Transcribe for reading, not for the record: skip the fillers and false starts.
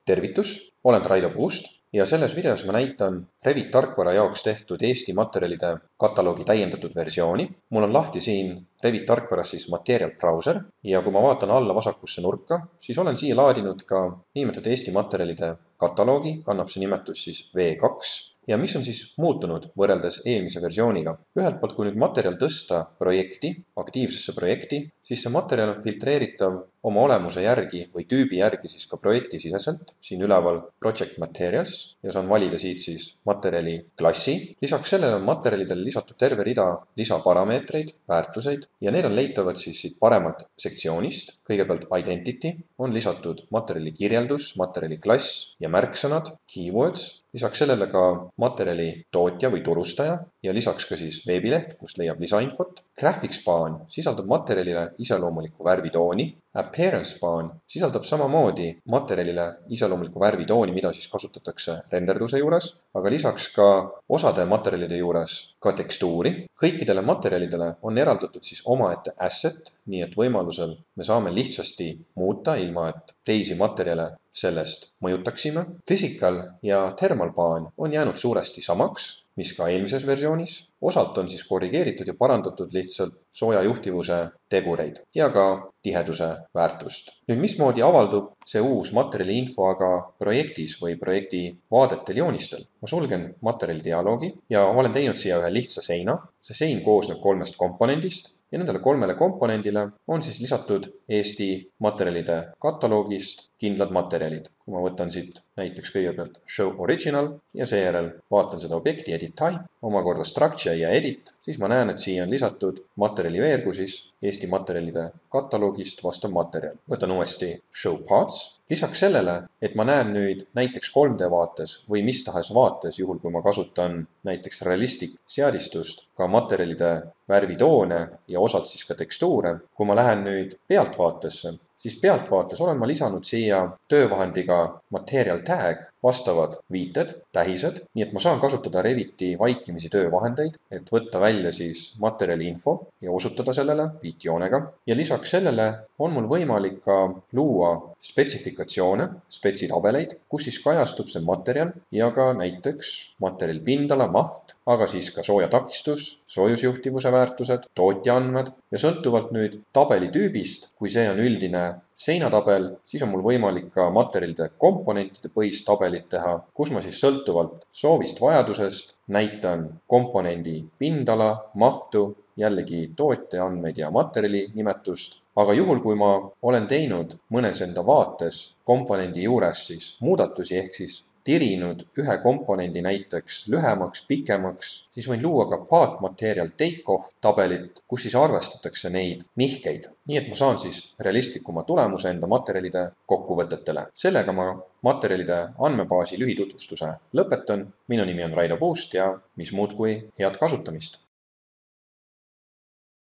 Tervitus, olen Raido Puust ja selles videos ma näitan Revit tarkvara jaoks tehtud Eesti materjalide kataloogi täiendatud versiooni. Mul on lahti siin Revit tarkvaras Material Browser ja kui ma vaatan alla vasakusse nurka, siis olen siia laadinud ka niinimetatud Eesti materjalide kataloogi, kannab see nimetus V2. Ja mis on siis muutunud võrreldes eelmise versiooniga? Ühelt poolt, kui nüüd materjal tõsta projekti, aktiivsesse projekti, siis see materjal on filtreeritav oma olemuse järgi või tüübi järgi siis ka projekti siseselt. Siin üleval Project Materials ja saan valida siit siis materjali klassi. Lisaks sellele on materjalidele lisatud terve rida lisaparameetreid, väärtuseid ja need on leitavad siis siit paremalt sektsioonist. Kõigepealt Identity on lisatud materjali kirjeldus, materjali klass ja märksõnad, keywords. Lisaks sellele ka materjali tootja või turustaja ja lisaks ka siis veebileht, kust leiab lisainfot. Graphics Span sisaldab materjalile iseloomulikku värvitooni. Appearance Span sisaldab samamoodi materjalile iseloomulikku värvitooni, mida siis kasutatakse renderduse juures, aga lisaks ka osade materjalide juures ka tekstuuri. Kõikidele materjalidele on eraldatud siis omaette asset, nii et võimalusel me saame lihtsasti muuta, ilma et teisi materjale sellest mõjutaksime. Physical ja Thermal Pan on jäänud suuresti samaks, mis ka eelmises versioonis. Osalt on siis korrigeeritud ja parandatud lihtsalt sooja juhtivuse tegureid ja ka tiheduse väärtust. Nüüd, mismoodi avaldub see uus materjali info aga projektis või projekti vaadetel joonistel? Ma sulgen materjali dialoogi ja olen teinud siia ühe lihtsa seina. See sein koosneb 3 komponendist ja nendele 3 komponendile on siis lisatud Eesti materjalide kataloogist kindlad materjalid. Kui ma võtan siit näiteks kõigepealt Show Original ja seejärel vaatan seda objekti Edit Type, omakorda Structure ja Edit, siis ma näen, et siia on lisatud materjali veergu siis Eesti materjalide kataloogist vastav materjal. Võtan uuesti Show Parts. Lisaks sellele, et ma näen nüüd näiteks 3D vaates või mis tahes vaates, juhul kui ma kasutan näiteks realistic seadistust, ka materjalide värvitoone ja osalt siis ka tekstuure. Kui ma lähen nüüd pealtvaatesse, siis pealtvaates olen ma lisanud siia töövahendiga Material Tag vastavad viited, tähised, nii et ma saan kasutada Reviti vaikimisi töövahendeid, et võtta välja siis materjali info ja osutada sellele viitjoonega. Ja lisaks sellele on mul võimalik ka luua spetsifikatsioone, spetsitabeleid, kus siis kajastub see materjal ja ka näiteks materjali pindala, maht, aga siis ka soojatakistus, soojusjuhtivuse väärtused, tootja andmed ja sõltuvalt nüüd tabeli tüübist, kui see on üldine seinatabel, siis on mul võimalik ka materjalide komponentide põhist tabelit teha, kus ma siis sõltuvalt soovist vajadusest näitan komponendi pindala, mahtu, jällegi tootja andmeid ja materjali nimetust. Aga juhul, kui ma olen teinud mõnes enda vaates komponendi juures siis muudatusi ehk siis tirinud ühe komponendi näiteks lühemaks, pikemaks, siis võin luua ka Path Material Takeoff tabelit, kus siis arvestatakse neid nihkeid. Nii et ma saan siis realistlikuma tulemuse enda materjalide kokkuvõtetele. Sellega ma materjalide andmebaasi lühitutvustuse lõpetan. Minu nimi on Raido Puust ja mis muud kui head kasutamist!